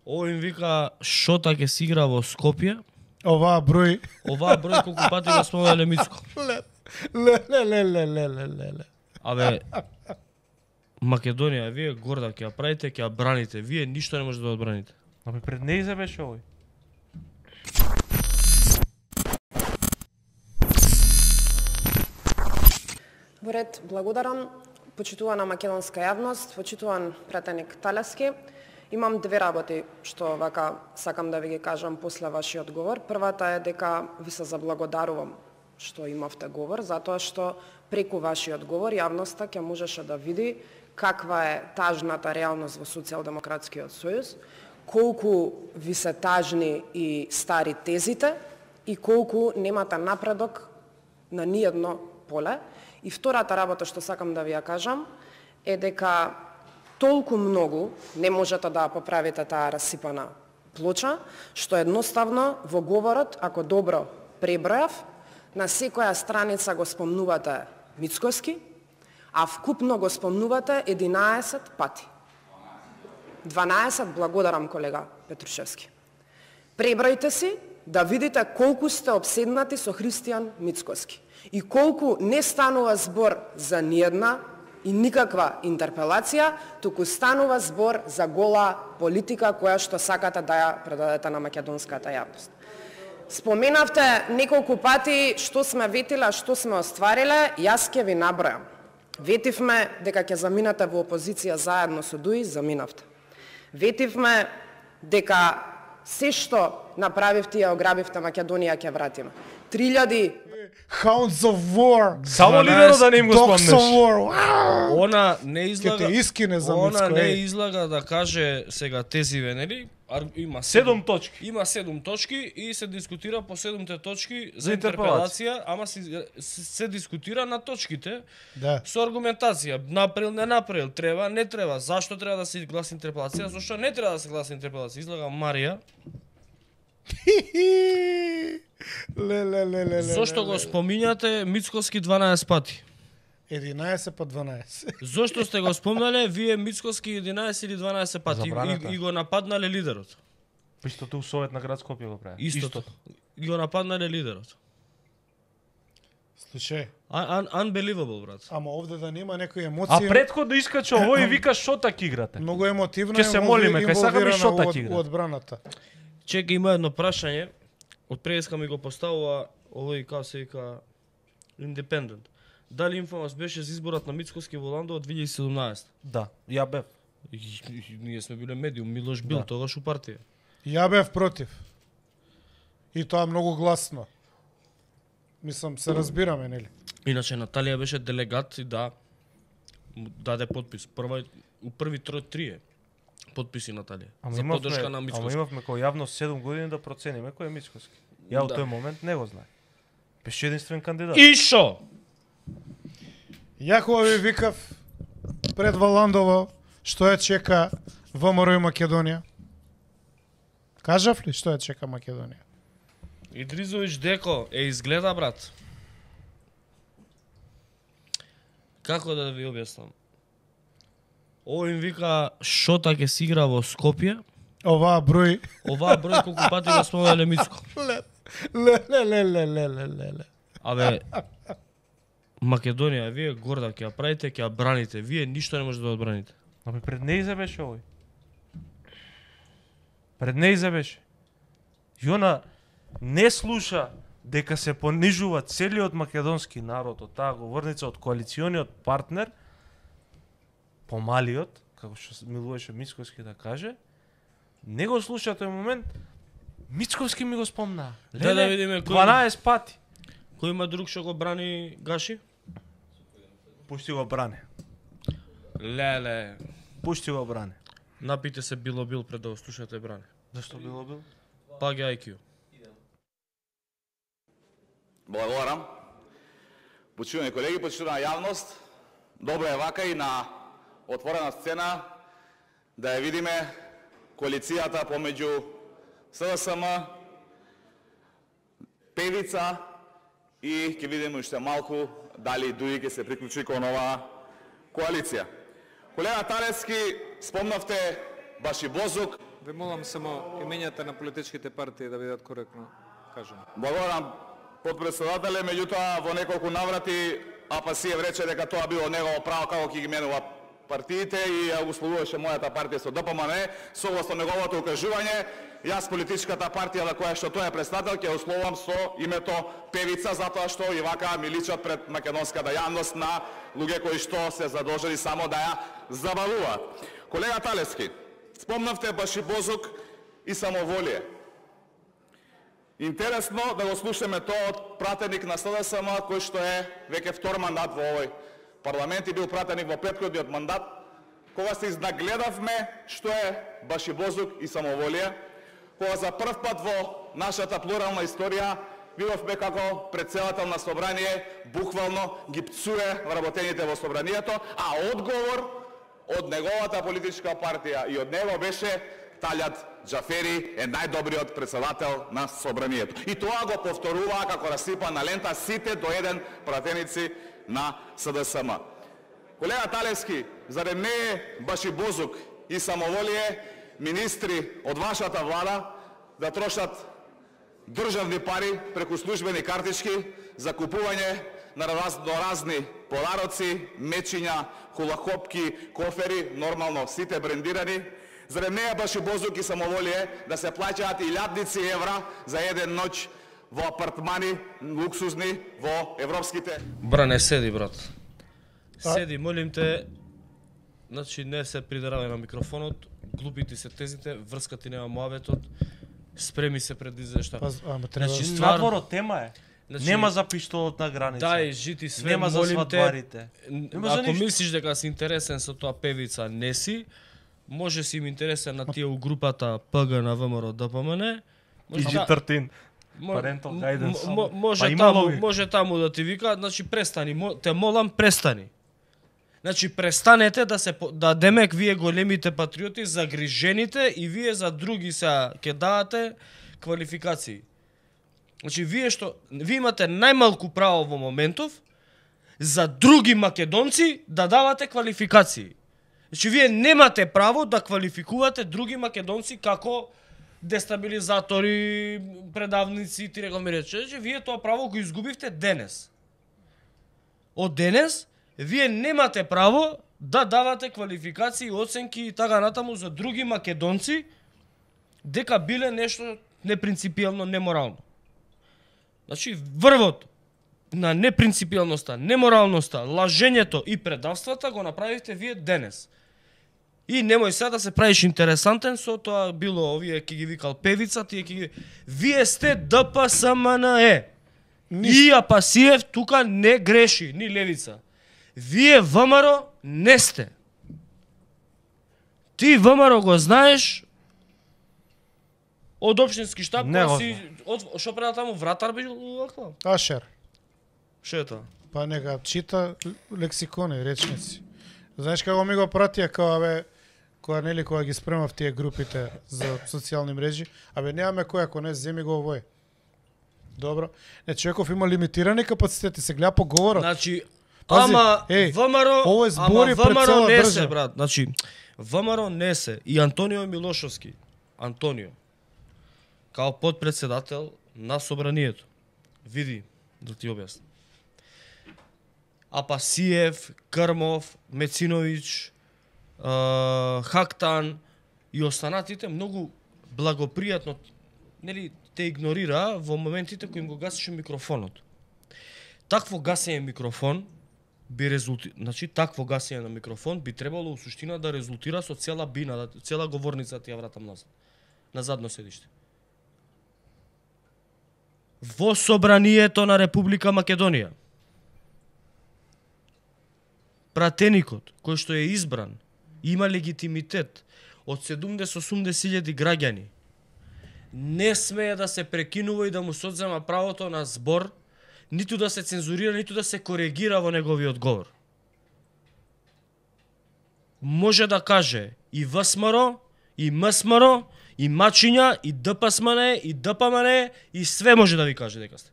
Овој им вика Шота ќе си игра во Скопје. Оваа број Колку пати го спомнале Мицко. Ле. Абе, Македонија, вие горда ќе ја правите, ќе ја браните. Вие ништо не можете да одбраните. Абе, пред неизе беше овој. Во ред, благодарам. Почитувана македонска јавност, почитуван пратеник Талески. Имам две работи што вака сакам да ви ги кажам после вашиот говор. Првата е дека ви се заблагодарувам што имавте говор, затоа што преку вашиот говор јавноста ќе можеше да види каква е тажната реалност во Социјалдемократскиот сојуз, колку ви се тажни и стари тезите и колку немате напредок на ниедно поле. И втората работа што сакам да ви ја кажам е дека толку многу не можете да поправите таа расипана плоча, што едноставно во говорот, ако добро пребројав, на секоја страница го спомнувате Мицкоски, а вкупно го спомнувате 11 пати. 12, благодарам колега Петрушевски. Пребројте си да видите колку сте обседнати со Христијан Мицкоски и колку не станува збор за ниедна и никаква интерпелација, туку станува збор за гола политика која што сакате да ја предадете на македонската јавност. Споменавте неколку пати што сме ветиле, што сме оствариле, јас ќе ви набројам. Ветивме дека ќе заминете во опозиција заедно со ДУИ, заминавте. Ветивме дека се што направивте и ограбивте Македонија ќе вратиме. 3000 Hounds of War. Само лидерот да не им го Dogs спомнеш. of War. Она не излага. Ќе те искине за Мицко. Она не излага да каже сега тезиве, нели? Има 7 точки. Има 7 точки и се дискутира по 7 точки За за интерпелација. интерпелација, ама се дискутира на точките. Да. Со аргументација, направил, не направил, треба, не треба, зашто треба да се гласи интерпелација, зашто не треба да се гласи интерпелација. Излага Марија. Ле. Зошто го спомињате Мицкоски 12 пати? 11 по 12. Зошто сте го спомнале вие Мицкоски 11 или 12 пати Забраната. и го нападнале лидерот? Истото у Совет на град Скопје го прави. Истото. И го нападнале лидерот. Слушај, Unbelievable, брат. ама овде да нема некои А емоции. претходно искача овој и вика Шотак играте. Многу емотивно Ќе се молиме, кај сакаме Шотак игра. у одбраната. Чека, има едно прашање. Од преска ми го поставува овој, како се вика, Independent. Дали информас беше за изборот на Мицкоски во Ландо од 2017? Да, ја бев. Ние сме биле медиум, Милош бил Да. тогаш у партија. Ја бев против. И тоа многу гласно. Мислам, се разбираме, нели? Иначе Наталија беше делегат и да му даде подпис. У први трие подписи Наталија. За поддршка на Ама Мицкоски. имавме кој јавно 7 години да процениме кој е Мицкоски. Ја од Да. тој момент не го знаев. Беше единствен кандидат. И шо? Јакова ви викав пред Валандово што ја чека ВМРО и Македонија. Кажав ли што ја чека Македонија? Идризович Деко изгледа, брат. Како да ви објаснам? Овој им вика Шота ќе си игра во Скопје. Оваа број Колку пати го спомнале Мицко. ле. Абе, Македонија, вие горда ќе ја правите, ќе ја браните. Вие ништо не можете да одбраните. Абе, пред неизе беше овој. Пред неизе беше. И она не слуша дека се понижува целиот македонски народ од таа говорница, од коалициониот партнер, помалиот, како што милуваше Мицкоски да каже, не го слуша тој момент. Мицкоски ми го спомна. Да видиме кој 12 пати. Кој има друг што го брани Гаши? Пушти го бране. Леле. Пушти го бране. Напите се било бил пред да го слушате брани. Зашто било бил? Паѓа IQ. Благодарам. Почитувани колеги, почитувана јавност, добро е вака и на отворена сцена да ја видиме коалицијата помеѓу СДСМ, Певица и ќе видиме уште малку дали ДУИ ќе се приклучи кон оваа коалиција. Колега Талески, спомнавте Башибозук, Ве молам само имењата на политичките партии да бидат коректно кажани. Благодарам подпредседателе, меѓутоа во неколку наврати Апасиев рече дека тоа било негово право како ќе ги менува партиите и ја условуваше мојата партија со ДПМН. Согласно неговото укажување, јас политичката партија на која што тој е представител ќе условувам со името Певица, затоа што и вака ми личат пред македонската јавност на луѓе кои што се задолжени само да ја забавуваат. Колега Талевски, спомнавте Башибозук и самоволие. Интересно да го слушаме тоа од пратеник на СДСМ, кој што е веќе втор мандат во овој парламент и бил пратеник во претходниот мандат, кога се изнагледавме што е Башибозук и самоволие, кога за прв пат во нашата плурална историја видовме како претседател на собрание буквално ги пцуе вработените во собранието, а одговор од неговата политичка партија и од него беше Талјат Џафери е најдобриот претседател на собранието. И тоа го повторуваа како расипана лента сите до еден пратеници на СДСМ. Колега Талевски, зарем не е Башибозук и самоволие министри од вашата влада да трошат државни пари преку службени картички за купување на разни подароци, мечиња, хулахопки, кофери, нормално сите брендирани? Зарем не е Башибозук и самоволие да се плаќаат илјадници евра за еден ноќ во апартмани луксузни во европските? Бране, седи, брат. Седи, молим те. Значи, не се придравај на микрофонот, глупити се тезите, врскати нема муаветот, спреми се пред изешта. Значи, ствар- надвор тема е. Значи, Нема за пиштолот на граница. Дај, жити све, Нема за молим те. свадбарите. Нема за Ако ништо. мислиш дека си интересен со тоа Певица, не си. Може си им интересен на тие у групата ПГ на ВМРО ДПМН. Може Иджи да- тртин. Мо- Parental guidance. мо- може Па има таму, логика. може таму да ти викаат, значи престани, те молам престани. Значи престанете да демек вие големите патриоти загрижените и вие за други се ќе давате квалификации. Значи вие имате најмалку право во моментов за други македонци да давате квалификации. Значи вие немате право да квалификувате други македонци како дестабилизатори, предавници, ти рекол ми рече, че вие тоа право го изгубивте денес. Од денес, вие немате право да давате квалификации, оценки и така натаму за други македонци дека биле нешто непринципијално, неморално. Значи, врвот на непринципијалноста, неморалноста, лажењето и предавствата го направивте вие денес. И немој сега да се правиш интересантен со тоа било овие ќе ги викал Певица, тие ќе ги... Вие сте ДПСМНЕ. И Апасиев тука не греши, ни левица. Вие ВМРО не сте. Ти ВМРО го знаеш од општински штаб, Не го си што преда таму вратар бил ваква. Ашер. Што е тоа? Па нека чита лексикони, речници. Знаеш како ми го пратија кога ги спремав тие групите за социјални мрежи, немаме кој, ако не земи го овој. Добро. Не, човеков има лимитирани капацитети, се гледа по говорот. Значи, Пази, ама овој ВМРО, збори пред цела не држава. се, брат. Значи, ВМРО не се. И Антонио Милошовски, Антонио, као подпредседател на собранието. Види, да ти објаснам. Апасиев, Крмов, Мециновиќ, Хактан и останатите многу благопријатно, нели, те игнорира во моментите кои им го гасише микрофонот. Такво гасење микрофон значи такво гасење на микрофон би требало у суштина да резултира со цела бина, цела говорница ти ја вратам назад, на задно седиште. Во собранието на Република Македонија, пратеникот кој што е избран има легитимитет од 70-80 граѓани, не смее да се прекинува и да му се одзема правото на збор, ниту да се цензурира, ниту да се коригира во неговиот говор. Може да каже и ВСМР, и МСМР, и мачиња, и ДПСМН, и ДПМН, и све може да ви каже дека сте.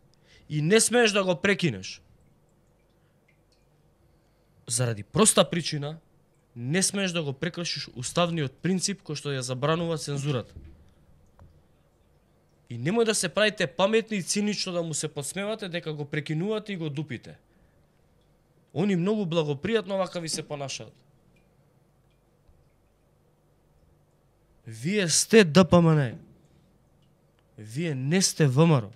И не смееш да го прекинеш. Заради проста причина, не смееш да го прекршиш уставниот принцип кој што ја забранува цензурата. И немој да се правите паметни и цинично да му се подсмевате дека го прекинувате и го дупите. Они многу благопријатно вака ви се понашаат. Вие сте ДПМН. Вие не сте ВМРО.